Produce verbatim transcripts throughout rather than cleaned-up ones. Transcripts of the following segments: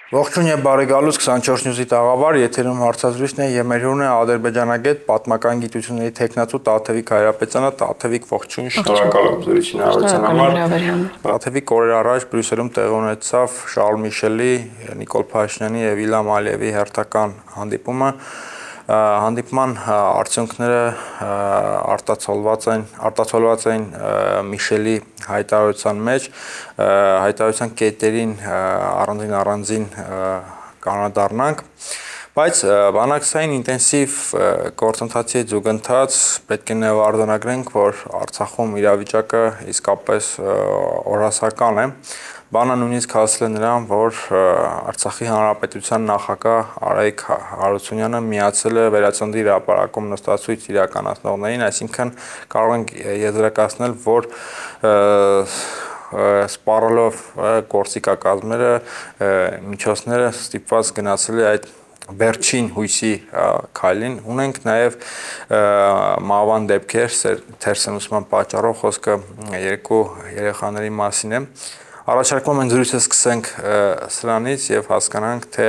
Ողջույն եւ բարի գալուս քսանչորս նյուզի տաղավար, եթերում հարցազրույցն է եւ մեր հյուրն է ադրբեջանագետ պատմական գիտությունների թեկնածու Տաթևիկ Հայրապետյանը։ Տաթևիկ, ողջույն, շնորհակալ եմ ձեր հնարավորության համար։ Տաթևիկ, օրեր առաջ Բրյուսելում տեղի ունեցավ Շարլ Միշելի, Նիկոլ Փաշինյանի եւ Իլհամ Ալիևի հերթական հանդիպումը։ Հանդիպման արդյունքները արտացոլված են արտացոլված են Միշելի հայտարարության մեջ, հայտարարության կետերին առանձին առանձին կանադառնանք, բայց բանակցային ինտենսիվ գործընթացի զուգընթաց պետք է նաև արձանագրենք, որ Արցախում իրավիճակը իսկապես օրհասական է։ Բանը նույնիսկ հասել է նրան, որ Արցախի Հանրապետության նախագահ Արայիկ Հարությունյանը միացել է Վերածննդի հրապարակում նստածույց իրականացնողներին, այսինքն կարող ենք եզրակացնել, որ սպառելով գործիքակազմերը, միջոցները ստիպված գնացել է այդ վերջին հույսի քայլին։ Ունենք նաև մահվան դեպքեր, թերսնուցման պատճառով, խոսքը երկու երեխաների մասին է։ Առաջարկում եմ զրույցը սկսենք սրանից եւ հասկանանք, թե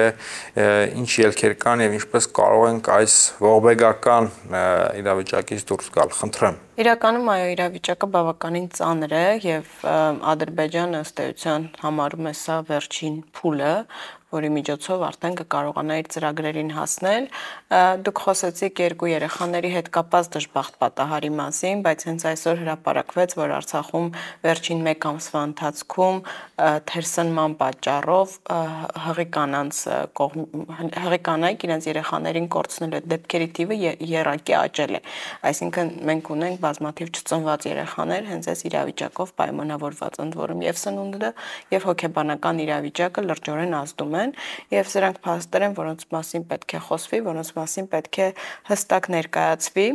ինչ ելքեր կան եւ ինչպես կարող ենք այս ողբեգական իրավիճակից դուրս գալ։ Խնդրեմ։ Իրականում այո, իրավիճակը բավականին ծանր է եւ Ադրբեջանը ըստ էության համարում է սա վերջին փուլը, որի միջոցով արդեն կկարողանա իր ծրագրերին հասնել։ Դուք խոսեցիք երկու երեխաների հետ կապված դժբախտ պատահարի մասին, բայց հենց այսօր հրապարակվեց, որ Արցախում վերջին մեկ ամսվա ընթացքում թերսնման պատճառով հղի կանանց հղի կանայք իրենց երեխաներին կորցնել այդ դեպքերի թիվը եռակի աճել է։ Այսինքն մենք ունենք բազմաթիվ չծնված երեխաներ հենց այս իրավիճակով պայմանավորված, ընդ որում եւ սնունդը եւ հոգեբանական իրավիճակը լրջորեն ազդում են եւ սրանք փաստեր են, որոնց մասին պետք է խոսվի, որոնց մասին պետք է հստակ ներկայացվի։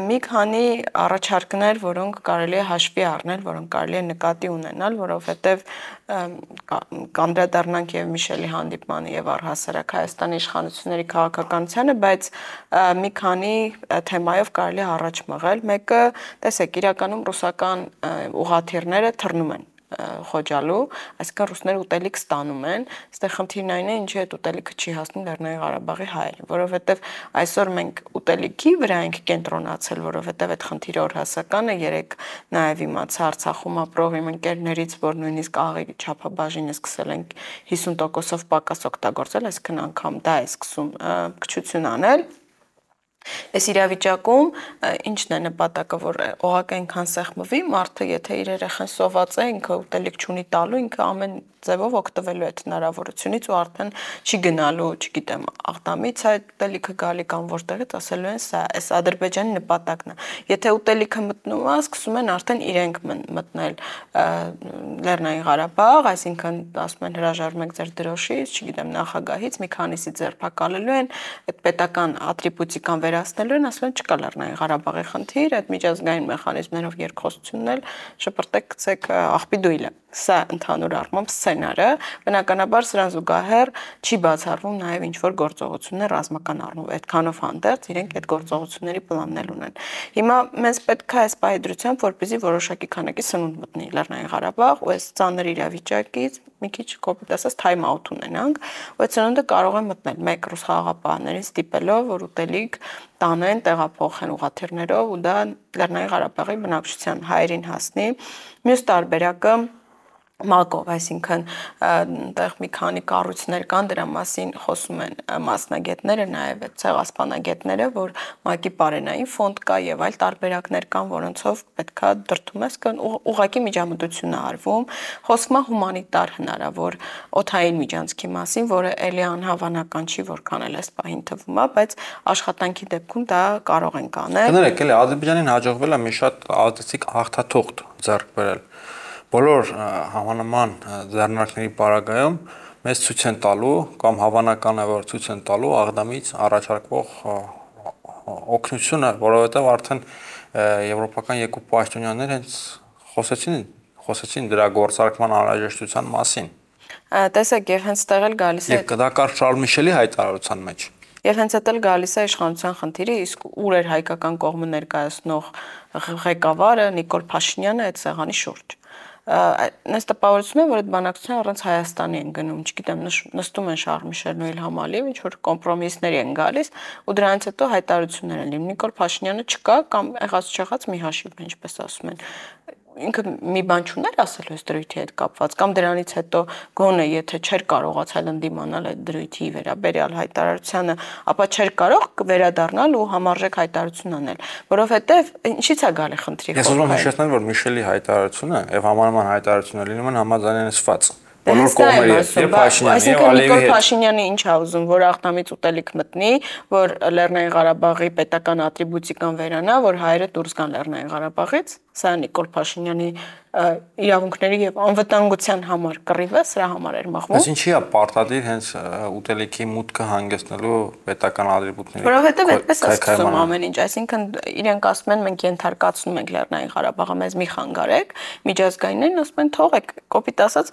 Մի քանի առաջարկներ, որոնք կարելի է հաշվի առնել, որոնք կարելի է նկատի ունենալ, որովհետեւ կանդրադառնանք եւ Միշելի հանդիպմանը եւ առհասարակ Հայաստանի իշխանությունների քաղաքականությանը, բայց մի քանի թեմայով կարելի է առաջ մղել։ Մեկը, տեսեք, իրականում ռուսական ուղղաթիռները թռնում են Խոջալու, այսինքն ռուսները ուտելիք ստանում են, այստեղ խնդիրն այն է, ինչի այդ ուտելիքը չի հասնում Լեռնային Ղարաբաղի հայերին, որովհետև այսօր մենք ուտելիքի վրա ենք կենտրոնացել, որովհետև այդ խնդիրը օրհասական է, երեք նաև իմացա Արցախում ապրող իմ ընկերներից, որ նույնիսկ աղի չափաբաժինը սկսել են հիսուն տոկոսով պակաս օգտագործել, այսինքն անգամ դա է սկսում քչություն անել։ Այս իրավիճակում ինչն է նպատակը, որ օղակը այնքան սեղմվի, մարդը եթե իր երեխան սոված է, ինքը ուտելիք չունի տալու, ինքը ամեն ձևով օգտվելու այդ հնարավորությունից ու արդեն չի գնալու, չգիտեմ, Աղդամից այդ ուտելիքը գալի կամ որտեղից, ասելու են սա, այս Ադրբեջանի նպատակն է։ Եթե ուտելիքը մտնում է, սկսում են արդեն իրենք մտնել Լեռնային Ղարաբաղ, այսինքն ասում են հրաժարվում եք ձեր դրոշից, չգիտեմ, նախագահից, մի քանիսի ձերբակալելու են, այդ պետական ատրիբուտիկան վերացնելու են, ասում են չկա Լեռնային Ղարաբաղի խնդիր, այդ միջազգային մեխանիզմներով երկխոսությունն էլ շպրտեք գցեք աղբի դույլը։ Սա ընդհանուր առմամբ սցենարը, բնականաբար սրան զուգահեռ չի բացառվում նաև ինչ-որ գործողություններ ռազմական առումով, այդքանով հանդերձ իրենք այդ գործողությունների պլաններ ունեն։ Հիմա մեզ պետք է այս պահեդրությամբ, որպեսզի որոշակի քանակի սնունդ մտնի Լեռնային Ղարաբաղ, ու այս ծանր իրավիճակից մի քիչ կոպիտ ասած թայմ աութ ունենանք, ու այդ սնունդը կարող է մտնել մեկ ռուս խաղաղապահներին ստիպելով, որ ուտելիք տանեն, տեղափոխեն ուղղաթիռներով ու դա Լեռնային Ղարաբաղի բնակչության հայերին հասնի։ Մյուս տարբերակը մակով, այսինքն այնտեղ մի քանի կառույցներ կան, դրա մասին խոսում են մասնագետները, նաև ցեղասպանագետները, որ մակի պարենային ֆոնդ կա եւ այլ տարբերակներ կան, որոնցով պետքա դրդում ես կան ուղղակի միջամտություն է արվում, խոսվում է հումանիտար հնարավոր օդային միջանցքի մասին, որը ելի անհավանական չի, որքան էլ այս պահին թվում է, բայց աշխատանքի դեպքում դա կարող ենք անել։ Կներեք, էլի Ադրբեջանին հաջողվել է մի շատ ազդեցիկ հաղթաթուղթ ձեռք բերել։ Բոլոր համանման ձեռնարկների պարագայում մեզ ցույց են տալու կամ հավանական է որ ցույց են տալու Աղդամից առաջարկվող օգնությունը, որովհետև արդեն եվրոպական երկու պաշտոնյաներ հենց խոսեցին, խոսեցին դրա գործարկման անհրաժեշտության մասին։ Տեսեք, եւ հենց տեղ էլ գալիս է։ Եվ դա կար Շարլ Միշելի հայտարարության մեջ։ Եվ հենց այդ էլ գալիս է իշխանության խնդիրը, իսկ ուր էր հայկական կողմը ներկայացնող ղեկավարը Նիկոլ Փաշինյանը այդ սեղանի շուրջ։ Նես տպավորություն է, որ այդ բանակցությունը առանց Հայաստանի են գնում, չգիտեմ, նստում են Շարլ Միշելն ու Իլհամ Ալիևը, ինչ որ կոմպրոմիսների են գալիս, ու դրանից հետո հայտարարություններ են լինում։ Նիկոլ Փաշինյանը չկա կամ եղած չեղած մի հաշիվ, ինչպես ասում են։ Ինքը մի բան չուներ ասել այս դրույթի հետ կապված կամ դրանից հետո գոնե եթե չէր կարողացել ընդդիմանալ այդ դրույթի վերաբերյալ հայտարարությանը, ապա չէր կարող վերադառնալ ու համարժեք հայտարարություն անել, որովհետև ինչի՞ց է գալի խնդրի խոսքը։ Ես ուզում եմ հիշեցնել, որ Միշելի հայտարարությունը եւ համանման հայտարարությունը լինում են համաձայնեցված։ Բոլոր կողմերի եւ Փաշինյանի եւ Ալիևի հետ։ Փաշինյանի ինչ է ուզում, որ աղտամից ուտելիք մտնի, որ Լեռնային Ղարաբաղի պետական ատրիբուտիկան վերանա, որ հայերը դուրս գան Լեռնային Ղարաբաղից։ Սա Նիկոլ Փաշինյանի իրավունքների եւ անվտանգության համար կռիվ է, սրա համար էր մղվում։ Բայց ինչի է պարտադիր հենց ուտելիքի մուտքը հանգեցնելու պետական ատրիբուտների։ Որովհետեւ այդպես է սկսում ամեն ինչ, այսինքն իրենք ասում են մենք ենթարկացնում ենք Լեռնային Ղարաբաղը, մեզ մի խանգարեք, միջազգայիններն ասում են թողեք, կոպիտ ասած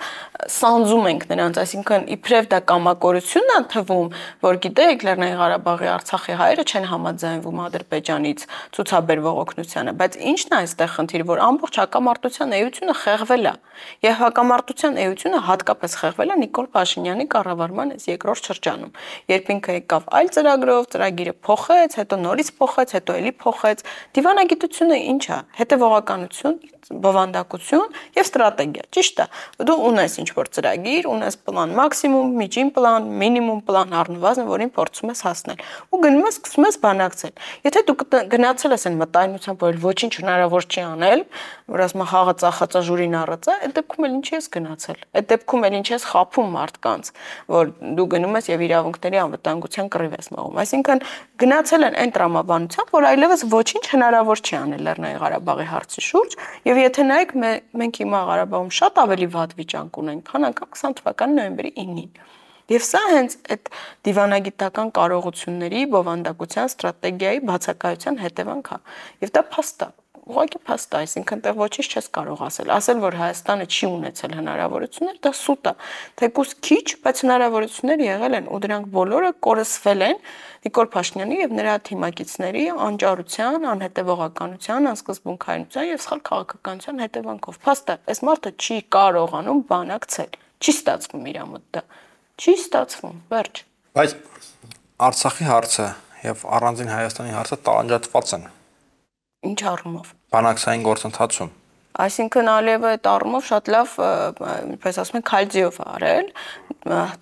սանձում ենք նրանց, այսինքն իբրև դա կամակորությունն է թվում, որ գիտեք Լեռնային Ղարաբաղի Արցախի հայերը չեն համաձայնվում Ադրբեջանից ցուցաբերվող օգնությանը, բայց ինչն է այստեղ խնդիրը, որ ամբողջ հակամարտության էությունը խեղվել է եւ հակամարտության էությունը հատկապես խեղվել է Նիկոլ Փաշինյանի կառավարման այս երկրորդ շրջանում, երբ ինքը եկավ այլ ծրագրով, ծրագիրը փոխեց, հետո նորից փոխեց, հետո էլի փոխեց։ Դիվանագիտությունը ինչ է, հետևողականություն, բովանդակություն եւ ստրատեգիա, ճիշտ է։ Դու ունես ինչ-որ ծրագիր, ունես պլան մաքսիմում, միջին պլան, մինիմում պլան առնվազն, որին փորձում ես հասնել։ Ու գնում ես սկսում ես բանակցել։ Եթե դու գնացել ես այն մտայնությամբ, որ ոչինչ հնարավոր չի անել, որ ասում եմ խաղը ծախածա ժուրին առածա, այդ դեպքում էլ ինչ ես գնացել։ Այդ դեպքում էլ ինչ ես խափում մարդկանց, որ դու գնում ես եւ իրավունքների անվտանգության կռիվ ես մղում։ Այսինքն գնացել են այն տրամաբանությամբ, որ այլևս ոչինչ հնարավոր չի անել Լեռնային Ղարաբաղի հարցի շուրջ, եւ եթե նայեք մենք հիմա Ղարաբաղում շատ ավելի վատ վիճակ ունենք, քան անգամ քսան թվականի նոյեմբերի ինին։ Եվ սա հենց այդ դիվանագիտական կարողությունների, բովանդակության, ստրատեգիայի բացակայության հետևանք է։ Եվ դա փաստ է, ուղղակի փաստ է, այսինքն տեղ ոչինչ չես կարող ասել։ Ասել, որ Հայաստանը չի ունեցել հնարավորություններ, դա սուտ է։ Թեկուզ քիչ, բայց հնարավորություններ եղել են ու դրանք բոլորը կորսվել են Նիկոլ Փաշինյանի եւ նրա թիմակիցների անճարության, անհետևողականության, անսկզբունքայնության եւ սխալ քաղաքականության հետևանքով։ Փաստ է, այս մարդը չի կարողանում բանակցել։ Չի ստացվում իր մոտ դա։ Չի ստացվում, վերջ։ Բայց Արցախի հարցը եւ առանձին Հայաստանի հարցը տարանջատված են։ Ինչ առումով։ Բանակցային գործընթացում։ Այսինքն Ալիևը այդ առումով շատ լավ, ինչպես ասում են, քալձիով արել,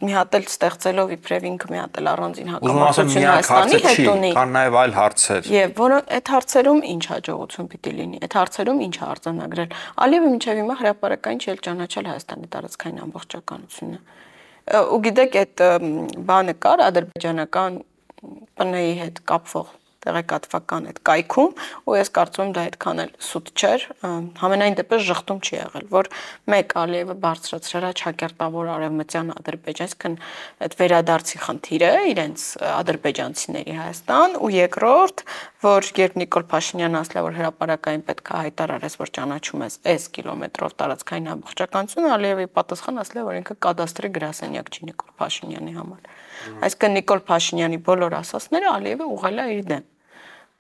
մի հատ էլ ստեղծելով իբրև ինքը մի հատ էլ առանձին հակամարտություն Հայաստանի հետ ունի։ Կան նաև այլ հարցեր։ Եվ որոնք այդ հարցերում ինչ հաջողություն պիտի լինի, այդ հարցերում ինչ է արձանագրել։ Ալիևը մինչև հիմա հրապարակային չի ճանաչել Հայաստանի տարածքային ամբողջականությունը։ Ու գիտեք, այդ բանը կար ադրբեջանական ՊՆ-ի հետ կապվող տեղեկատվական այդ կայքում, ու ես կարծում եմ դա այդքան էլ սուտ չէր, համենայն դեպս ժխտում չի եղել, որ մեկ Ալիևը բարձրացրել է ճակերտավոր արևմտյան Ադրբեջան, այսինքն այդ վերադարձի խնդիրը իրենց ադրբեջանցիների Հայաստան, ու երկրորդ, որ երբ Նիկոլ Փաշինյանը ասել է, որ հրապարակային պետք է հայտարարես, որ ճանաչում ես այս կիլոմետրով տարածքային ամբողջականություն, Ալիևի պատասխանը ասել է, որ ինքը կադաստրի գրասենյակ չի Նիկոլ Փաշինյանի համար։ Այսինքն Նիկոլ Փաշինյանի բոլոր ասածները Ալիևը ուղղել է իր դեմ։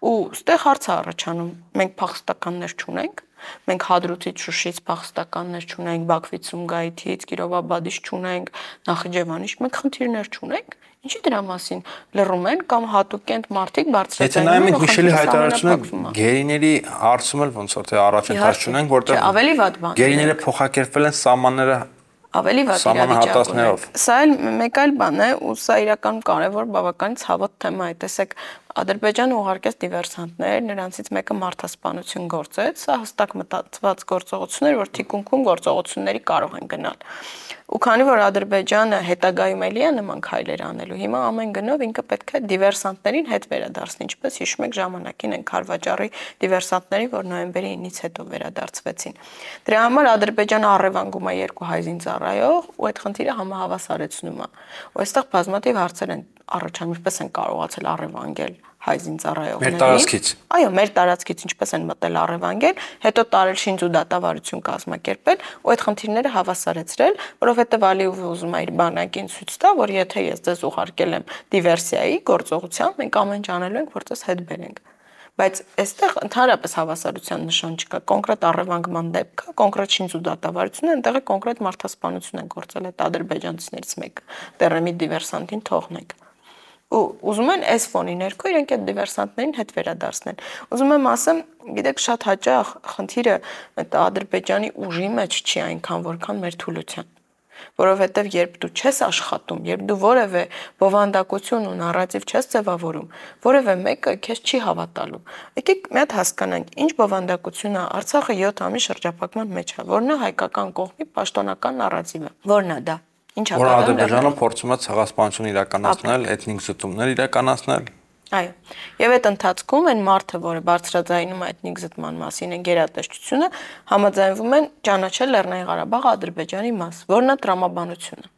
Ու ստեղ հարց է առաջանում, մենք փախստականներ չունենք, մենք Հադրութից, Շուշից փախստականներ չունենք, Բաքվից, Սումգայիթից, Կիրովաբադից չունենք, Նախիջևանից, մենք խնդիրներ չունենք։ Ինչի դրա մասին լռում են կամ հատուկենտ մարդիկ բարձրացնում են։ Եթե նայում ենք Միշելի հայտարարությունը, գերիների հարցում էլ ոնց որ թե առաջընթաց չունենք, որտեղ ավելի վատ բան։ Գերիները փոխակերպվել են սահմանները ավելի վատ իրավիճակով։ Սա էլ մեկ այլ բան է, ու սա իրականում կարևոր բավականին ցավոտ թեմա է։ Տեսեք, Ադրբեջանը ուղարկեց դիվերսանտներ, նրանցից մեկը մարդասպանություն գործեց, սա հստակ մտածված գործողություններ, որ թիկունքում գործողությունների կարող են գնալ։ Ու քանի որ Ադրբեջանը հետագայում էլի է նման քայլեր անելու, հիմա ամեն գնով ինքը պետք է դիվերսանտներին հետ վերադարձնի, ինչպես հիշում եք ժամանակին են Քարվաճառի դիվերսանտների, որ նոյեմբերի ինից հետո վերադարձվեցին։ Դրա համար Ադրբեջանը առևանգում է երկու հայ զինծառայող, ու այդ խնդիրը համահավասարեցնում է։ Ու այստեղ բազմաթիվ հարցեր են առաջանում, ինչպես են կարողացել առևանգել հայ զինծառայողներին։ Մեր տարածքից։ Այո, մեր տարածքից ինչպես են մտել առևանգել, հետո տարել շինձու դատավարություն կազմակերպել, ու այդ խնդիրները հավասարեցրել, որովհետև Ալիևը ուզում է իր բանակին ցույց տա, որ եթե ես ձեզ ուղարկել եմ դիվերսիայի գործողության, մենք ամեն ինչ անելու ենք, որ ձեզ հետ բերենք։ Բայց այստեղ ընդհանրապես հավասարության նշան չկա, կոնկրետ առևանգման դեպք կա, կոնկրետ շինձու դատավարություն է, այնտեղ է կոնկրետ մարդասպանություն են գործել այդ ադրբեջանցիներից մեկը, Տերեմի դիվերսանտին թողնենք։ Ու ուզում են այս ֆոնի ներքո իրենք այդ դիվերսանտներին հետ վերադարձնեն։ Ուզում եմ ասեմ, գիտեք, շատ հաճախ խնդիրը այդ Ադրբեջանի ուժի մեջ չի այնքան, որքան մեր թուլության։ Որովհետև երբ դու չես աշխատում, երբ դու որևէ բովանդակություն ու նարատիվ չես ձևավորում, որևէ մեկը քեզ չի հավատալու։ Եկեք մի հատ հասկանանք, ինչ բովանդակություն է Արցախը յոթ ամիս շրջափակման մեջ է, որն է հայկական կողմի պաշտոնական նարատիվը։ Որն է դա։ Ինչ է որ Ադրբեջանը փորձում է ցեղասպանություն իրականացնել, էթնիկ զտումներ իրականացնել։ Այո, եւ այդ ընթացքում այն մարդը, որը բարձրաձայնում է էթնիկ զտման մասին են գերատեսչությունը, համաձայնվում են ճանաչել Լեռնային Ղարաբաղը Ադրբեջանի մաս, որն է տրամաբանությունը։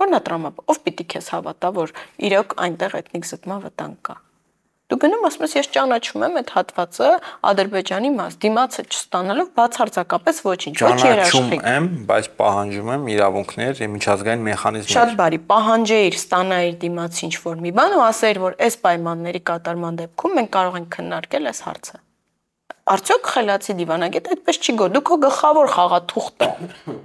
Որն է տրամաբան, ով պիտի քեզ հավատա, որ իրոք այնտեղ էթնիկ զտման վտանգ կա։ Դու գնում ասում ես, ես ճանաչում եմ այդ հատվածը Ադրբեջանի մաս, դիմացը չստանալով բացարձակապես ոչինչ, ոչ երաշխիք։ Ճանաչում եմ, բայց պահանջում եմ իրավունքներ եւ միջազգային մեխանիզմներ։ Շատ բարի, պահանջեիր, ստանայիր դիմացի ինչ-որ մի բան ու ասեիր, որ այս պայմանների կատարման դեպքում մենք կարող ենք քննարկել այս հարցը։ Արդյոք խելացի դիվանագետ այդպես չի գո, դու քո գլխավոր խաղաթուղթը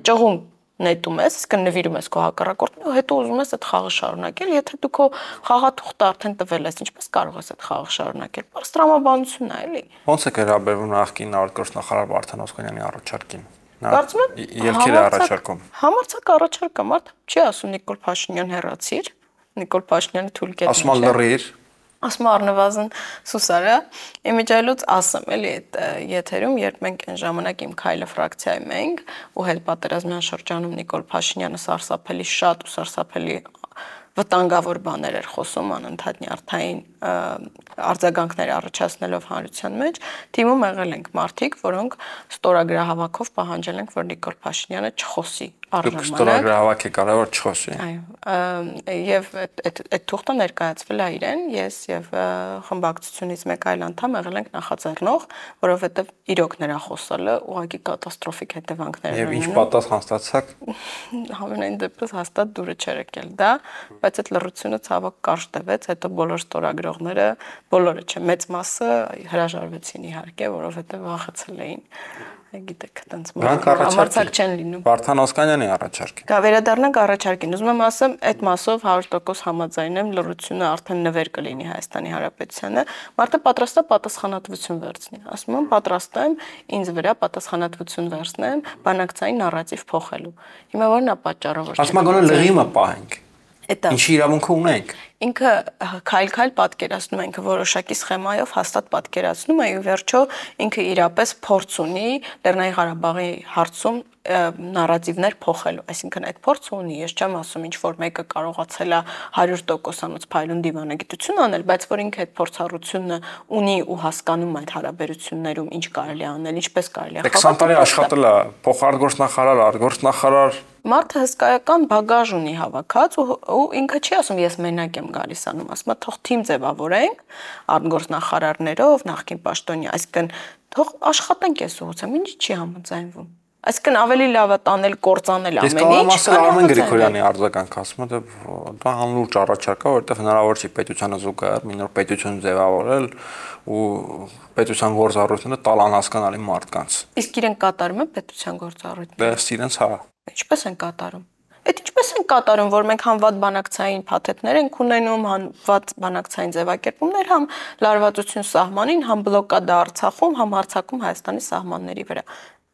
ճղում նետում ես, իսկ նվիրում ես քո հակառակորդին ու հետո ուզում ես այդ խաղը շարունակել, եթե դու քո խաղաթուղթը արդեն տվել ես, ինչպես կարող ես այդ խաղը շարունակել։ Պարզ տրամաբանությունն է, էլի։ Ոնց է վերաբերվում նախկին արտգործնախարար Վարդան Օսկանյանի առաջարկին։ Կարծում եմ ելքեր է առաջարկում։ Համարձակ առաջարկ է, մարդ չի ասում Նիկոլ Փաշինյան հեռացիր, Նիկոլ Փաշինյանը թույլ կետ։ Ասում է լռիր։ Ասում առնվազն Սուսարը, իմիջայլուց ասեմ, էլի այդ եթերում, երբ մենք այն ժամանակ իմ քայլը ֆրակցիայում էինք ու հետ պատերազմյան շրջանում Նիկոլ Փաշինյանը սարսափելի շատ ու սարսափելի վտանգավոր բաներ էր խոսում անընդհատ նյարդային արձագանքներ առաջացնելով հանրության մեջ, թիմում եղել ենք մարդիկ, որոնք ստորագրահավաքով պահանջել ենք, որ Նիկոլ Փաշինյանը չխոսի առժամանակ։ Ստորագրահավաք է կարող որ չխոսի։ Այո, եւ այդ թուղթը ներկայացվել է իրեն, ես եւ խմբակցությունից մեկ այլ անդամ եղել ենք նախաձեռնող, որովհետեւ իրոք նրա խոսալը ուղղակի կատաստրոֆիկ հետևանքներ ունի։ Եվ ինչ պատասխան ստացաք։ Համենայն դեպս հաստատ դուրը չէր եկել դա, բայց այդ լռությունը ցավոք կարճ տևեց, հետո բոլոր ստորագրողները, բոլորը չէ, մեծ մասը հրաժարվեցին իհարկե, որովհետեւ վախեցել էին։ Գիտեք, այտենց համարձակ չեն լինում։ Վարդան Օսկանյանի առաջարկին։ Դա վերադառնանք առաջարկին։ Ուզում եմ ասեմ, այդ մասով հարյուր տոկոս համաձայն եմ, լռությունը արդեն նվեր կլինի Հայաստանի Հանրապետությանը։ Մարդը պատրաստ է պատասխանատվություն վերցնի։ Ասում եմ, պատրաստ եմ ինձ վրա պատասխանատվություն վերցնեմ բանակցային նարատիվ փոխելու։ Հիմա ո՞րն է պատճառը, որ ասում եմ, գոնե լրիմը պահենք։ Էտա։ Ինչի իրավունք ունենք։ Ինքը քայլ-քայլ պատկերացնում է, ինքը որոշակի սխեմայով հաստատ պատկերացնում է ու վերջո ինքը իրապես փորձ ունի Լեռնային Ղարաբաղի հարցում նարատիվներ փոխելու, այսինքն այդ փորձը ունի, ես չեմ ասում ինչ որ մեկը կարողացել է հարյուր տոկոսանոց փայլուն դիվանագիտություն անել, բայց որ ինքը այդ փորձառությունը ունի ու հասկանում այդ հարաբերություններում ինչ կարելի է անել, ինչպես կարելի է քսան տարի աշխատել է փոխարտգործնախարար, արտգործնախարար Մարդը հսկայական բագաժ ունի հավաքած ու, ու ինքը չի ասում ես մենակ եմ գալիս անում, ասում է թող թիմ ձևավորենք արտգործնախարարներով, նախկին պաշտոնյա, այսինքն թող աշխատենք այս ուղղությամբ, ինչ չի համաձայնվում։ Այսինքն ավելի լավ է տանել, կործանել ամեն ինչ։ Ես կարող եմ ասել Արմեն Գրիգորյանի արձագանք, ասում է դա անլուրջ առաջարկ է, որովհետև հնարավոր չի պետությանը զուգահեռ մի նոր պետություն ձևավորել ու պետության գործառույթները տալ անհասկանալի մարդկանց։ Իսկ իրեն կատարում են պետության գործառույթները։ Դա իրենց հա։ Ինչպես են կատարում։ Այդ ինչպես են կատարում, որ մենք համ վատ բանակցային փաթեթներ ենք ունենում, համ վատ բանակցային ձևակերպումներ, համ լարվածություն սահմանին, համ բլոկադա Արցախում, համ հարձակում Հայաստանի սահմանների վրա։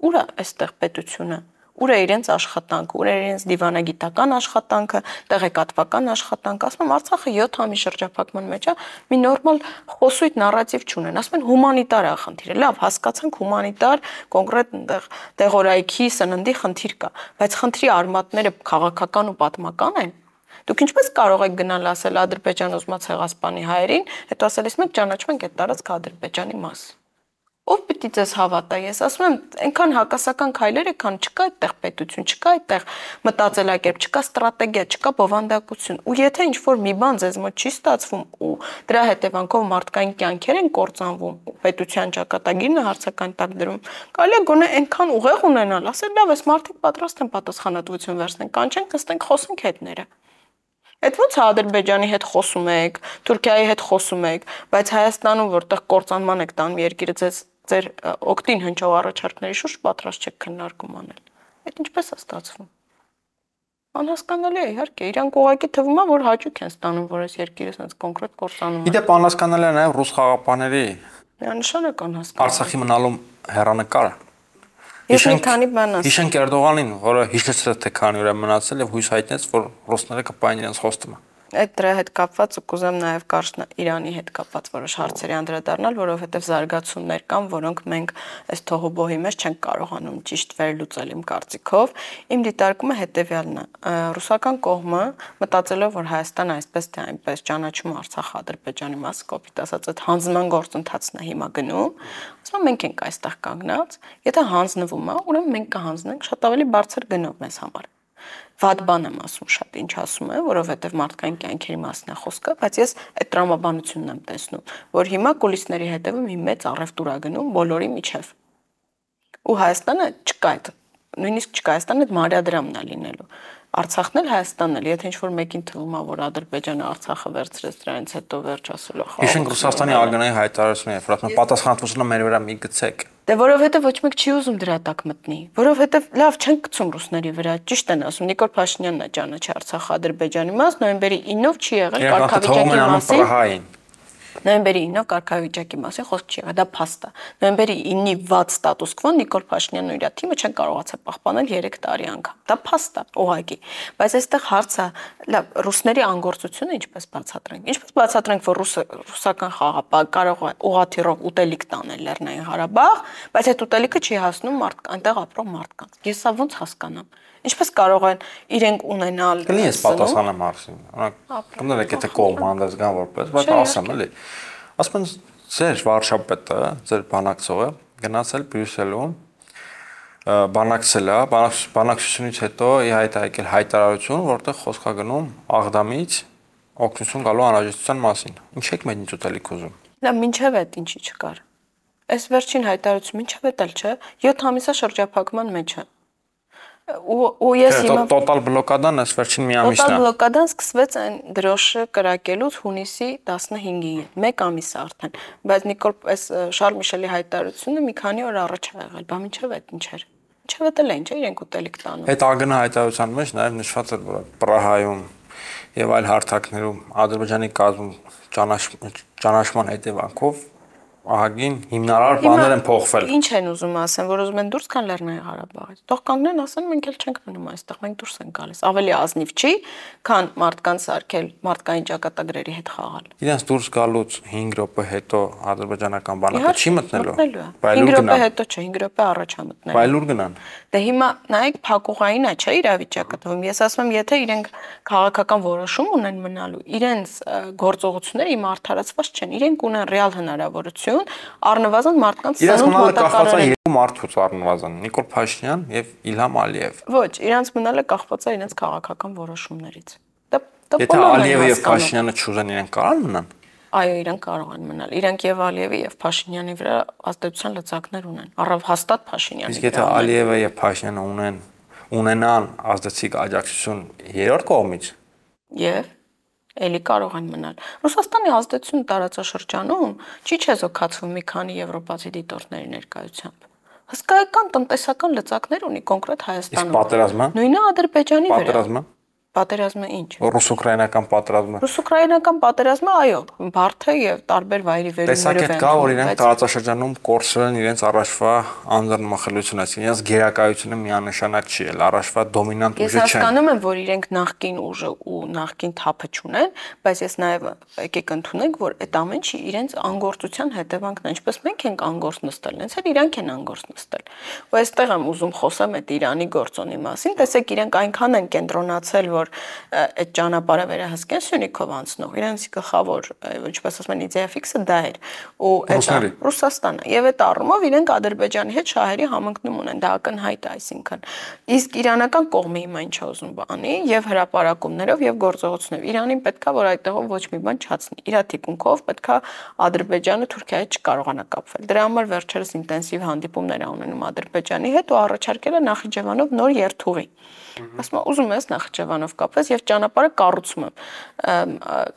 Ուր է այստեղ պետությունը։ Ուր է իրենց աշխատանքը, ուր է իրենց դիվանագիտական աշխատանքը, տեղեկատվական աշխատանքը, ասում եմ Արցախը յոթ ամիս շրջափակման մեջ է, մի նորմալ խոսույթ նարատիվ չունեն, ասում են հումանիտար է խնդիրը, լավ, հասկացանք հումանիտար, կոնկրետ այնտեղ տեղորայքի, սննդի խնդիր կա, բայց խնդրի արմատները քաղաքական ու պատմական են։ Դուք ինչպես կարող եք գնալ ասել Ադրբեջան ուզում է ցեղասպանի հայերին, հետո ասել ես մենք ճանաչում ենք այդ տարածքը Ադրբեջանի մաս։ Ով պիտի ձեզ հավատա, ես ասում եմ, այնքան հակասական քայլեր եկան, չկա այդտեղ պետություն, չկա այդտեղ մտածելակերպ, չկա ստրատեգիա, չկա բովանդակություն։ Ու եթե ինչ-որ մի բան ձեզ մոտ չի ստացվում ու դրա հետևանքով մարդկային կյանքեր են կործանվում, պետության ճակատագիրն է հարցական տակ դրում, կարելի է գոնե այնքան ուղեղ ունենալ, ասել լավ, այս մարդիկ պատրաստ են պատասխանատվություն վերցնեն, կանչենք, նստենք, խոսենք հետները։ Այդ ոնց Ադրբեջանի հետ խոսում եք, Թուրքիայի հետ խոսում եք, բայց Հայաստանում որտեղ կործանման եք տանում երկիրը ձեզ ձեր օգտին հնչող առաջարկների շուրջ պատրաստ չեք քննարկում անել։ Այդ ինչպես է ստացվում։ Անհասկանալի է, իհարկե, իրանք ուղղակի թվում է, որ հաճույք են ստանում, որ այս երկիրը sense կոնկրետ կործանում է։ Իդեպ անհասկանալի է նաև ռուս խաղապաների Միանշանակ անհասկանալի։ Արցախի մնալու հեռանկարը։ Ես մի քանի բան ասեմ։ Հիշենք Էրդողանին, որը հիշեցրեց թե քանի օր է մնացել եւ հույս հայտնեց, որ ռուսները կպային իրենց խոստումը։ Այդ դրա հետ կապված ու կուզեմ նաև կարճ Իրանի հետ կապված որոշ հարցերի անդրադառնալ, որովհետև զարգացումներ կան, որոնք մենք այս թողոբոհի մեջ չենք կարողանում ճիշտ վերլուծել իմ կարծիքով։ Իմ դիտարկումը հետևյալն է. ռուսական կողմը մտածելով, որ Հայաստանը այսպես թե այնպես ճանաչում Արցախը Ադրբեջանի մասը, կոպիտ ասած, այդ հանձնման գործընթացն է հիմա գնում, ասում են մենք ենք այստեղ կանգնած, եթե հանձնվում է, ուրեմն մենք կհանձնենք շատ ավելի բարձր գնով մեզ համար։ Վատ բան եմ ասում, շատ ինչ ասում եմ, որովհետև մարդկային կյանքերի մասն է խոսքը, բայց ես այդ տրամաբանությունն եմ տեսնում, որ հիմա կուլիսների հետևում մի մեծ առևտուր է գնում բոլորի միջև։ Ու Հայաստանը չկա այդ, նույնիսկ չկա Հայաստանը այդ մարիադրամն է լինելու։ Արցախն էլ Հայաստանն էլ, եթե ինչ-որ մեկին թվում է, որ Ադրբեջանը Արցախը վերցրեց, դրանից հետո վերջ ասելու խաղ։ Հիշենք Ռուսաստանի արգանայի հայտարարությունը, որ պատասխանատվությունը մեր վրա մի գցեք։ Դե որովհետև ոչ մեկ չի ուզում դրա տակ մտնի, որովհետև լավ չեն գցում ռուսների վրա, ճիշտ են ասում, Նիկոլ Փաշինյանն է ճանաչի Արցախը Ադրբեջանի մաս, նոյեմբերի ինով չի եղել կարգավիճակի մասին։ Նոյեմբերի ինով կարգավիճակի մասին խոսք չի եղել, դա փաստ է։ Նոյեմբերի ինի վատ ստատուս քվոն Նիկոլ Փաշինյանն ու իր թիմը չեն կարողացել պահպանել երեք տարի անգամ։ Դա փաստ է, ուղղակի։ Բայց այստեղ հարցը, լավ, ռուսների անգործությունը ինչպես բացատրենք։ Ինչպես բացատրենք, որ ռուսը ռուսական խաղապահ կարող է ուղղաթիռով ուտելիք տանել Լեռնային Ղարաբաղ, բայց այդ ուտելիքը չի հասնում մարդ այնտեղ ապրող մարդկանց։ Ես սա ոնց հասկանամ։ Ինչպես կարող են իրենք ունենալ։ Կլինի ես պատասխանեմ Մարսին։ Օրինակ, կմնալեք եթե կողմ հանդես գան որպես, բայց ասեմ էլի։ Ասում են ձեր վարչապետը, ձեր բանակցողը գնացել Բրյուսելում, բանակցել է, բանակցությունից հետո ի հայտ եկել հայտարարություն, որտեղ խոսք է գնում Աղդամից օգնություն գալու անհրաժեշտության մասին։ Ինչ եք մենք ուտելիք ուզում։ Լավ, ինչև է ինչի չկար։ Այս վերջին հայտարարությունը ինչև է տալ, չէ՞։ յոթ ամիսա շրջափակման մեջ է։ Ու ես հիմա տոտալ բլոկադան այս վերջին մի ամիսն է։ Տոտալ բլոկադան սկսվեց այն դրոշը կրակելուց հունիսի տասնհինգին, մեկ ամիս է արդեն, բայց Նիկոլ այս Շարլ Միշելի հայտարարությունը մի քանի օր առաջ է եղել, բա ինչև է ինչեր։ Ինչև է տել են, չէ՞ իրենք ուտելիք տանում։ Այդ ԱԳՆ հայտարարության մեջ նաև նշված էր, որ Պրահայում եւ այլ հարթակներում Ադրբեջանի կազմում ճանաչման հետևանքով ահագին հիմնարար բաներ են փոխվել։ Ինչ են ուզում ասեն, որ ուզում են դուրս գան Լեռնային Ղարաբաղից։ Թող կանգնեն, ասեն մենք էլ չենք մնում այստեղ, մենք դուրս ենք գալիս։ Ավելի ազնիվ չի, քան մարդկանց սարքել, մարդկային ճակատագրերի հետ խաղալ։ Իրենց դուրս գալուց հինգ րոպե հետո ադրբեջանական բանակը չի մտնելու։ հինգ րոպե հետո չէ, հինգ րոպե առաջ է մտնելու։ Բայ լուր գնան։ Դե հիմա նայեք փակուղային է, չէ՞ իրավիճակը թվում։ Ես ասում եմ, եթե իրենք քաղաքական որոշում ունեն մնալու, իրենց գործողությունները իմ արդարացված չեն, իրենք ունեն ռեալ հնարավորություն առնվազն մարդկանց սնունդ մոտակարել երկու մարդուց առնվազն Նիկոլ Փաշինյան եւ Իլհամ Ալիև։ Ոչ, իրանց մնալը կախված է իրենց քաղաքական որոշումներից։ Դա Եթե Ալիևը եւ Փաշինյանը չուզեն, իրենք կարող են մնալ։ Այո, իրենք կարող են մնալ։ Իրենք եւ Ալիևի եւ Փաշինյանի վրա ազդեցության լծակներ ունեն։ Առավ հաստատ Փաշինյանի։ Իսկ եթե Ալիևը եւ Փաշինյանը ունեն ունենան ազդեցիկ աջակցություն երրորդ կողմից, եւ էլի կարող են մնալ։ Ռուսաստանի ազդեցությունը տարածաշրջանում չի չեզոքացվում մի քանի եվրոպացի դիտորդների ներկայությամբ։ Հսկայական տնտեսական լծակներ ունի կոնկրետ Հայաստանում։ Իսկ պատերազմը։ Նույնը Ադրբեջանի վրա։ Պատերազմը։ Պատերազմը ինչ։ Ռուս-ուկրաինական պատերազմը։ Ռուս-ուկրաինական պատերազմը, այո, բարդ է եւ տարբեր վայրի վերումներով են։ Տեսակ կա, որ իրենք տարածաշրջանում կորցրել են իրենց առաջվա անձնմխելությունը, այսինքն իրենց գերակայությունը միանշանակ չի, էլ առաջվա դոմինանտ ուժը չեն։ Ես հասկանում եմ, որ իրենք նախկին ուժը ու նախկին թափը չունեն, բայց ես նաեւ եկեք ընդունենք, որ այդ ամեն ինչի իրենց անգործության հետևանքն է, ինչպես մենք ենք անգործ նստել, հենց էլ իրանք են անգործ նստել։ Ու այստեղ եմ ուզում խոսեմ այդ Իրանի գործոնի մասին, տեսեք իրենք այնքան են կենտրոնացել, որ այդ ճանապարհը վերահսկեն Սյունիքով անցնող, իրենց գլխավոր, ինչպես ասում են, իդեա ֆիքսը դա էր, ու այդ Ռուսաստանը, եւ այդ առումով իրենք Ադրբեջանի հետ շահերի համընկնում ունեն, դա ակնհայտ է, այսինքն։ Իսկ իրանական կողմը հիմա ինչ է ուզում բանի, եւ հրապարակումներով եւ գործողություններով Իրանին պետքա որ այդտեղով ոչ մի բան չացնի, իր թիկունքով պետքա Ադրբեջանը Թուրքիայի հետ չկարողանա կապվել։ Դրա համար վերջերս ինտենսիվ հանդիպումներ ա ունենում Ադրբեջանի հետ ու առաջարկել է Նախիջևանով նոր երթուղի։ Ասում եմ, ուզում ես Նախիջևանով կապված եւ ճանապարհը կառուցում եմ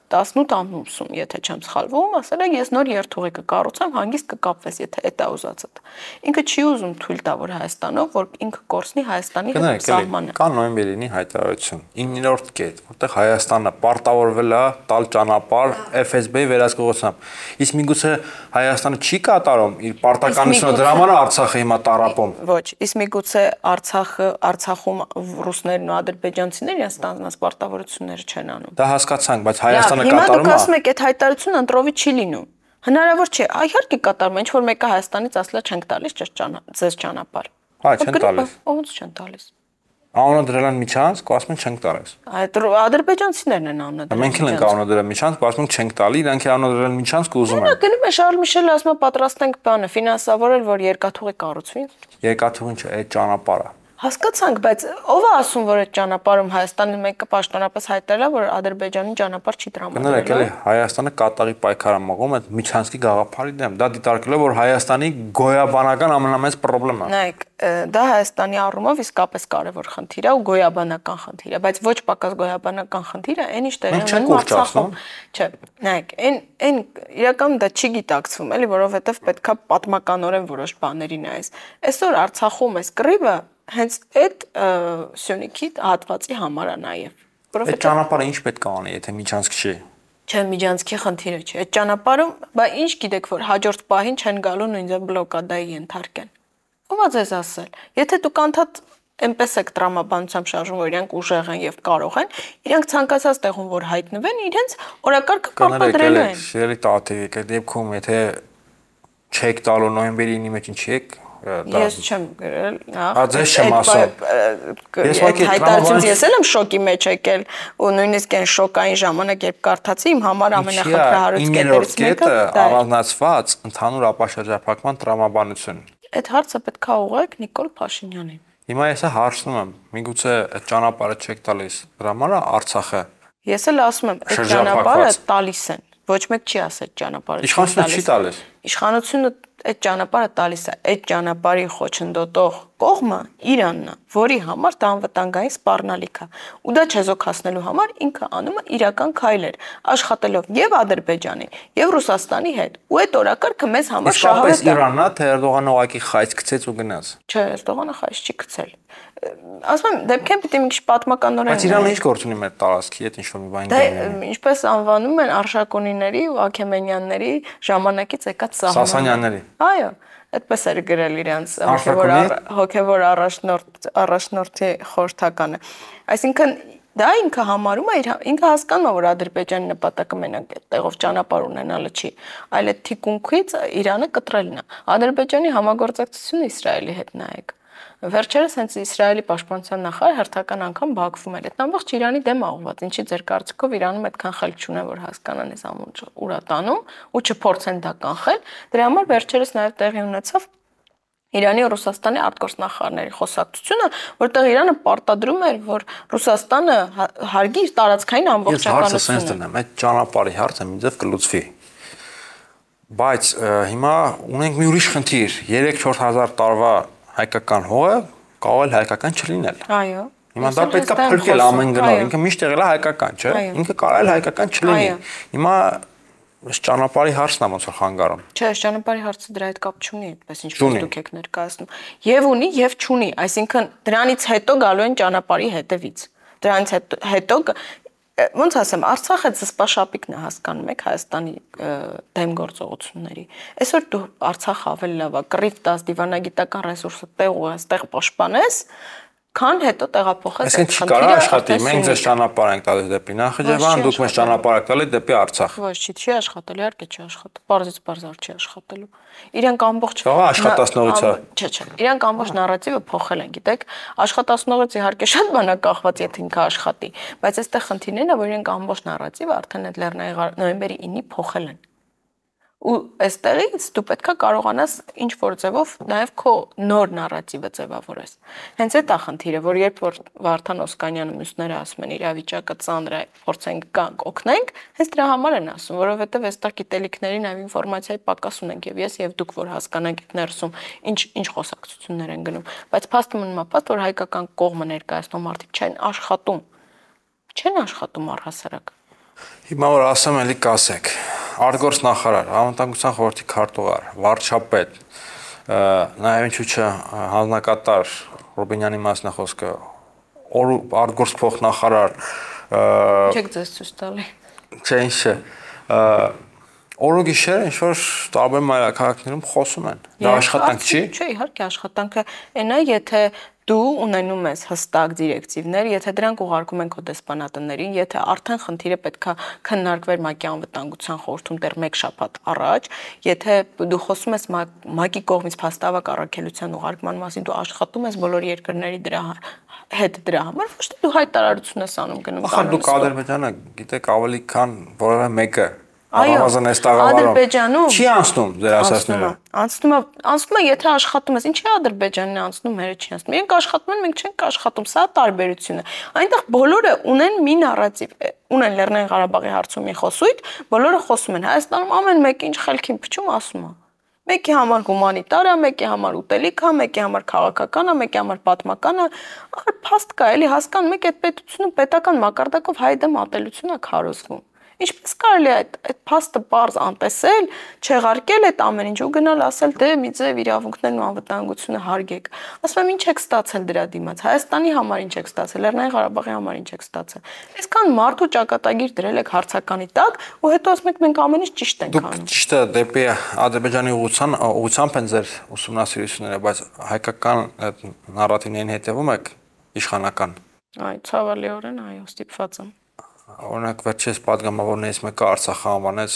տասնութ ամուսում, եթե չեմ սխալվում, ասել է ես նոր երթուղի կկառուցեմ, հանգիստ կկապվես, եթե դա ուզածդ։ Ինքը չի ուզում թույլ տա, որ Հայաստանով, որ ինքը կորցնի Հայաստանի հետ սահմանը։ Կա նոյեմբերինի հայտարարություն, իններորդ կետ, որտեղ Հայաստանը պարտավորվել է տալ ճանապարհ Էֆ Էս Բի-ի վերահսկողությամբ։ Իսկ միգուցե Հայաստանը չի կատարում իր պարտականությունը, դրա համար Արցախը հիմա տառապում։ Ոչ, իսկ միգուցե Արցախը, Արցախում ռուսներն ու ադրբեջանցիները իրենց ստանձնած պարտավորությունները չեն անում։ Դա հասկացանք, բայց Հայաստանը կատարում է։ Հիմա դուք ասում եք, այդ հայտարարությունը ընտրովի չի լինում։ Հնարավոր չէ, իհարկե կատարում է, ինչ որ մեկը Հայաստանից ասලා չենք տալիս ձեզ ճանապարհ։ Հա, չեն տալիս։ Ոնց չեն տալիս։ Անունը դրել են միջանցք, ասում են չենք տալիս։ Այդ ադրբեջանցիներն են անունը դրել։ Մենք էլ ենք անունը դրել միջանցք, ասում են չենք տալի, իրանք էլ անունը դրել միջանցք ու ուզում են։ Նա գնում է Շարլ Միշելը ասում է պատրաստ ենք բանը ֆինանսավորել, որ երկաթուղի կառուցվի։ Երկաթուղին չէ, այդ ճանապարհը։ Հասկացանք, բայց ով է ասում, որ այդ ճանապարհում Հայաստանի մեկը պաշտոնապես հայտարարել է, որ Ադրբեջանի ճանապարհ չի տրամադրել։ Կներեք, էլի Հայաստանը կատաղի պայքար է մղում այդ միջանցքի գաղափարի դեմ։ Դա դիտարկել է, որ Հայաստանի գոյաբանական ամենամեծ խնդիրը։ Նայեք, դա Հայաստանի առումով իսկապես կարևոր խնդիր է ու գոյաբանական խնդիր է, բայց ոչ պակաս գոյաբանական խնդիր է, այն ինչ տեղի ունենում Արցախում։ Չէ, նայեք, այն այն իրականում դա չի գիտակցվում, էլի, որովհետև պետքա պատմականորեն որոշ բաների նայես։ Այսօր Արցախում էս կռիվը հենց այդ Սյունիքի հատվածի համար է նաև։ Այդ ճանապարհը ինչ պետք է անի, եթե միջանցք չի։ Չէ, միջանցքի խնդիրը չէ։ Այդ ճանապարհում, բա ինչ գիտեք, որ հաջորդ պահին չեն գալու նույնիսկ բլոկադայի ենթարկեն։ Ո՞վ է ձեզ ասել։ Եթե դուք անդադ այնպես եք տրամաբանությամբ շարժում, որ իրանք ուժեղ են եւ կարող են, իրանք ցանկացած տեղում որ հայտնվեն, իրենց օրակարգը կապադրելու են։ Շերի տատիկ, այդ դեպքում եթե չեք տալու նոյեմբերի մեջ ինչ եք Ես չեմ գրել, հա։ Ձեզ չեմ ասում։ Ես հայտարարությունից ես էլ եմ շոկի մեջ եկել ու նույնիսկ այն շոկային ժամանակ երբ կարդացի իմ համար ամենախնդրահարույց կետերից մեկը առանձնացված ընդհանուր ապաշրջափակման տրամաբանություն։ Այդ հարցը պետք է ուղղեք Նիկոլ Փաշինյանին։ Հիմա ես հարցնում եմ, միգուցե այդ ճանապարհը չեք տալիս, դրա համար Արցախը։ Ես էլ ասում եմ, այդ ճանապարհը տալիս են։ Ոչ մեկ չի ասել ճանապարհը։ Իշխանությունը չի տալիս։ Իշխանությունը այդ ճանապարհը տալիս է, այդ ճանապարհի խոչընդոտող կողմը Իրանն է, որի համար դա անվտանգային սպառնալիք է։ Ու դա չեզոքացնելու համար ինքը անում է իրական քայլեր, աշխատելով եւ Ադրբեջանի, եւ Ռուսաստանի հետ։ Ու այդ օրակարգը մեզ համար շահավետ է։ Իսկապես Իրանն է, թե Էրդողանը ուղղակի խայծ գցեց ու գնաց։ Չէ, Էրդողանը խայծ չի գցել։ Ասում եմ, դեպքեն պիտի մի քիչ պատմականորեն։ Բայց Իրանը ինչ գործ ունի մեր տարածքի հետ, ինչ որ մի բան դեմ։ Ինչպես անվանում են Արշակունիների ու Աքեմենյանների ժամանակից եկած սահմանը։ Սասանյանների։ Այո, այդպես էր գրել իրենց հոգևոր հոգևոր առաջնորդ առաջնորդի խորհրդականը։ Այսինքն դա ինքը համարում է ինքը հասկանում է, որ Ադրբեջանի նպատակը մենակ այդտեղով ճանապարհ ունենալը չի, այլ այդ թիկունքից Իրանը կտրելն է։ Ադրբեջանի համագործակցությունը Իսրայելի հետ նայեք։ Վերջերս հենց Իսրայելի պաշտպանության նախարար հերթական անգամ Բաքվում էր։ Այդ ամբողջ Իրանի դեմ աղված։ Ինչի ձեր կարծիքով Իրանում այդքան խելք չունեն, որ հասկանան այս ամուր ուրա տանում ու չփորձեն դա կանխել։ Դրա համար վերջերս նաև տեղի ունեցավ Իրանի ու Ռուսաստանի արտգործնախարարների խոսակցությունը, որտեղ Իրանը պարտադրում էր, որ Ռուսաստանը հարգի իր տարածքային ամբողջականությունը։ Ես հարցը sense դնեմ, այդ ճանապարհի հարցը ինձև կլուծվի։ Բայց հիմա ունենք մի ուրիշ խնդիր, երեք-չորս հազար տարվա հայկական հողը կարող է հայկական չլինել։ Այո։ Հիմա դա պետք է փրկել ամեն գնով, ինքը միշտ եղել է հայկական, չէ՞։ Ինքը կարող է հայկական չլինի։ Հիմա այս ճանապարհի հարցն է ոնց որ խանգարում։ Չէ, ճանապարհի հարցը դրա հետ կապ չունի, այդպես ինչպես դուք եք ներկայացնում։ Եվ ունի, եւ չունի, այսինքն դրանից հետո գալու են ճանապարհի հետևից։ Դրանից հետո ոնց ասեմ, Արցախը զսպաշապիկն է, հասկանում եք Հայաստանի դեմ գործողությունների։ Այսօր դու Արցախը ավելի լավ է, կռիվ տաս, դիվանագիտական ռեսուրսը տեղ ու այստեղ պաշտպանես, քան հետո տեղափոխես։ Այսինքն չի կարող աշխատի, մենք ձեզ ճանապարհ ենք տալիս դեպի Նախիջևան, դուք մեզ ճանապարհ եք տալիս դեպի Արցախ։ Ոչ, չի աշխատել, իհարկե չի աշխատել, բարձից բարձր չի աշխատելու։ Իրանք ամբողջ աշխատասնողից է։ Չէ, չէ, իրանք ամբողջ նարատիվը փոխել են, գիտեք, աշխատասնողից իհարկե շատ բան է կախված, եթե ինքը աշխատի, բայց այստեղ խնդիրն է, որ իրանք ամբողջ նարատիվը արդեն այդ Լեռնային նոյեմբերի ինը փոխել են։ Ու այստեղից դու պետքա կարողանաս ինչ որ ձևով նաև քո նոր նարատիվը ձևավորես։ Հենց այդ է խնդիրը, որ երբ որ Վարդան Օսկանյանը մյուսները ասում են իրավիճակը ծանր է, փորձենք գանք, օգնենք, հենց դրա համար են ասում, որովհետև այստեղ գիտելիքների նաև ինֆորմացիայի պակաս ունենք եւ ես եւ դուք որ հասկանանք այդ ներսում ինչ ինչ խոսակցություններ են գնում, բայց փաստը մնում է փաստ, որ հայկական կողմը ներկայացնող մարդիկ չեն աշխատում Չեն աշխատում առհասարակ։ Հիմա որ ասեմ, էլի կասեք, արտգործ նախարար, անվտանգության խորհրդի քարտուղար, վարչապետ, նաև ինչու՞ չէ հանձնակատար Ռուբինյանի մասն է խոսքը, արտգործ փոխնախարար, Չեք ձեզ ցույց տալի։ Չէ, ինչ է։ Օրը գիշեր ինչ որ տարբեր մայրաքաղաքներում խոսում են։ Դա աշխատանք չի։ Չէ, իհարկե աշխատանքը այն է, եթե դու ունենում ես հստակ դիրեկտիվներ, եթե դրանք ուղարկում են քո դեսպանատներին, եթե արդեն խնդիրը պետքա քննարկվեր ՄԱԿ-ի անվտանգության խորհրդում դեռ մեկ շաբաթ առաջ, եթե դու խոսում ես ՄԱԿ-ի կողմից փաստավակ առաքելության ուղարկման մասին, դու աշխատում ես բոլոր երկրների դրա հետ դրա համար, ոչ թե դու հայտարարություն ես անում գնում։ Ախր դուք Ադրբեջանը գիտեք ավելի քան որևէ մեկը։ Այո, Ադրբեջանում չի անցնում ձեր ասածները։ Անցնում է, անցնում է, եթե աշխատում ես, ինչի Ադրբեջանն է անցնում, մերը չի անցնում։ Մենք աշխատում ենք, մենք չենք աշխատում, սա տարբերությունը։ Այնտեղ բոլորը ունեն մի նարատիվ, ունեն Լեռնային Ղարաբաղի հարցում մի խոսույթ, բոլորը խոսում են։ Հայաստանում ամեն մեկը ինչ խելքին փչում ասում է։ Մեկի համար հումանիտար է, մեկի համար ուտելիք է, մեկի համար քաղաքական է, մեկի համար պատմական է։ Ախր փաստ կա, էլի հասկանում եք, այդ պետությունը պետական մակարդակով հայ դեմ ատելություն է քարոզվում։ Ինչպես կարելի է այդ այդ փաստը պարզ անտեսել, չեղարկել այդ ամեն ինչ ու գնալ ասել դե մի ձև իրավունքներն ու անվտանգությունը հարգեք։ Ասում եմ ինչ եք ստացել դրա դիմաց։ Հայաստանի համար ինչ եք ստացել, Լեռնային Ղարաբաղի համար ինչ եք ստացել։ Այսքան մարդու ճակատագիր դրել եք հարցականի տակ ու հետո ասում եք մենք ամեն ինչ ճիշտ ենք անում։ Դուք ճիշտ է դեպի Ադրբեջանի ուղղության ուղղությամբ են ձեր ուսումնասիրությունները, բայց հայկական այդ նարատիվներին հետևում եք իշխանական։ Այ ցավալիորեն այո, ստիպված եմ։ Օրինակ վերջերս падգամավորներից մեկը Արցախը անվանեց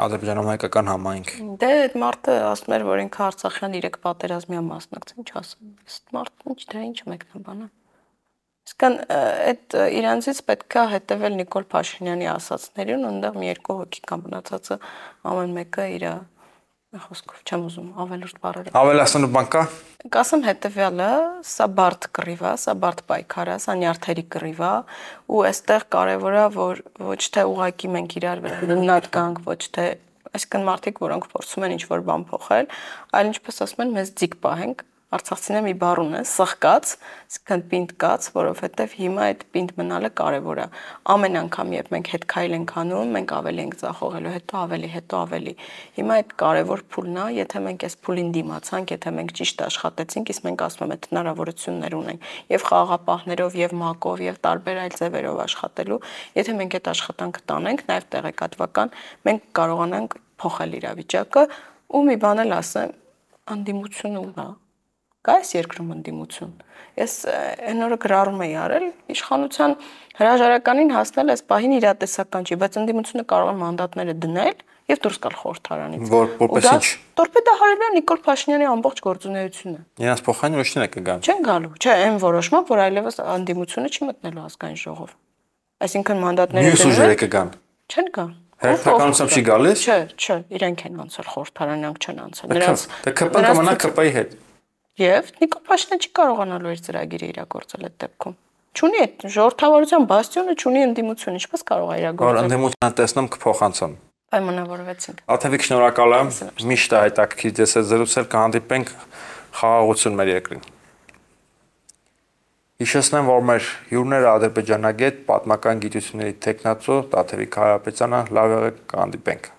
Ադրբեջանում հայկական համայնք։ Դե այդ մարդը ասում էր, որ ինքը Արցախյան իրեք պատերազմի մասնակցել, ինչ ասեմ։ Իսկ մարդը ինչ դրա ինչ մեկնաբան է։ Իսկան այդ իրանցից պետքա հետևել Նիկոլ Փաշինյանի ասածներին, այնտեղ մի երկու հոգի կամ մնացածը ամեն մեկը իր խոսքով չեմ ուզում ավելորդ բառեր։ Ավելացնելու բան կա։ Կասեմ հետևյալը, սա բարդ կռիվ է, սա բարդ պայքար է, սա նյարդերի կռիվ է, ու այստեղ կարևոր է, որ ոչ թե ուղակի մենք իրար ննատ գանք, ոչ թե այսինքն մարդիկ, որոնք փորձում են ինչ-որ բան փոխել, այլ ինչպես ասում են, մեզ ձիգ պահենք։ Արցախցիները մի բառ ունեն, սխկած, այսինքն պինդ կաց, որովհետև հիմա այդ պինդ մնալը կարևոր է։ Ամեն անգամ, երբ մենք հետ քայլ ենք անում, մենք ավելի ենք ձախողելու, հետո ավելի, հետո ավելի։ Հիմա այդ կարևոր փուլն է, եթե մենք այս փուլին դիմացանք, եթե մենք ճիշտ աշխատեցինք, իսկ մենք ասում եմ, այդ հնարավորություններ ունենք, եւ խաղաղապահներով, եւ ՄԱԿ-ով, եւ տարբեր այլ ձևերով աշխատելու, եթե մենք այդ աշխատանքը տանենք, նաեւ տեղեկատվական, մենք կարողանանք փոխել իրավիճակը, ու մի բան էլ ասեմ, անդիմությունը ուղղա Կա այս երկրում ընդդիմություն։ Ես այն օրը գրառում էի արել, իշխանության հրաժարականին հասնել այս պահին իրատեսական չի, բայց ընդդիմությունը կարող է մանդատները դնել եւ դուրս գալ խորհրդարանից։ Որպես ինչ։ Տորպեդահարել է Նիկոլ Փաշինյանի ամբողջ գործունեությունը։ Իրենց փոխային ոչ թե կգան։ Չեն գալու, չէ, այն որոշմամբ, որ այլևս ընդդիմությունը չի մտնելու ազգային ժողով։ Այսինքն մանդատները դնել։ Մյուս ուժերը կգան։ Չեն գա։ Հերթականությամբ չի գալիս։ Չէ, չէ, իրենք են անցել խորհրդարանանք չեն անցել։ Նրանց Դա ԿՊ-ն կմնա ԿՊ-ի հետ։ Եվ Նիկոլ Փաշինյանը չի կարողանալու իր ծրագիրը իրագործել այդ դեպքում։ Չունի այդ ժողովրդավարության բաստիոնը, չունի ընդդիմություն, ինչպես կարող է իրագործել։ Որ ընդդիմությունը տեսնում կփոխանցեն։ Պայմանավորվեցինք։ Աթևիկ շնորհակալ եմ։ Միշտ է հետաքրքիր դες այդ զրուցել, կհանդիպենք խաղաղություն մեր երկրին։ Հիշեցնեմ, որ մեր հյուրները ադրբեջանագետ, պատմական գիտությունների թեկնածու Տաթևիկ Հարապետյանը, լավ եղեք, կհանդիպենք։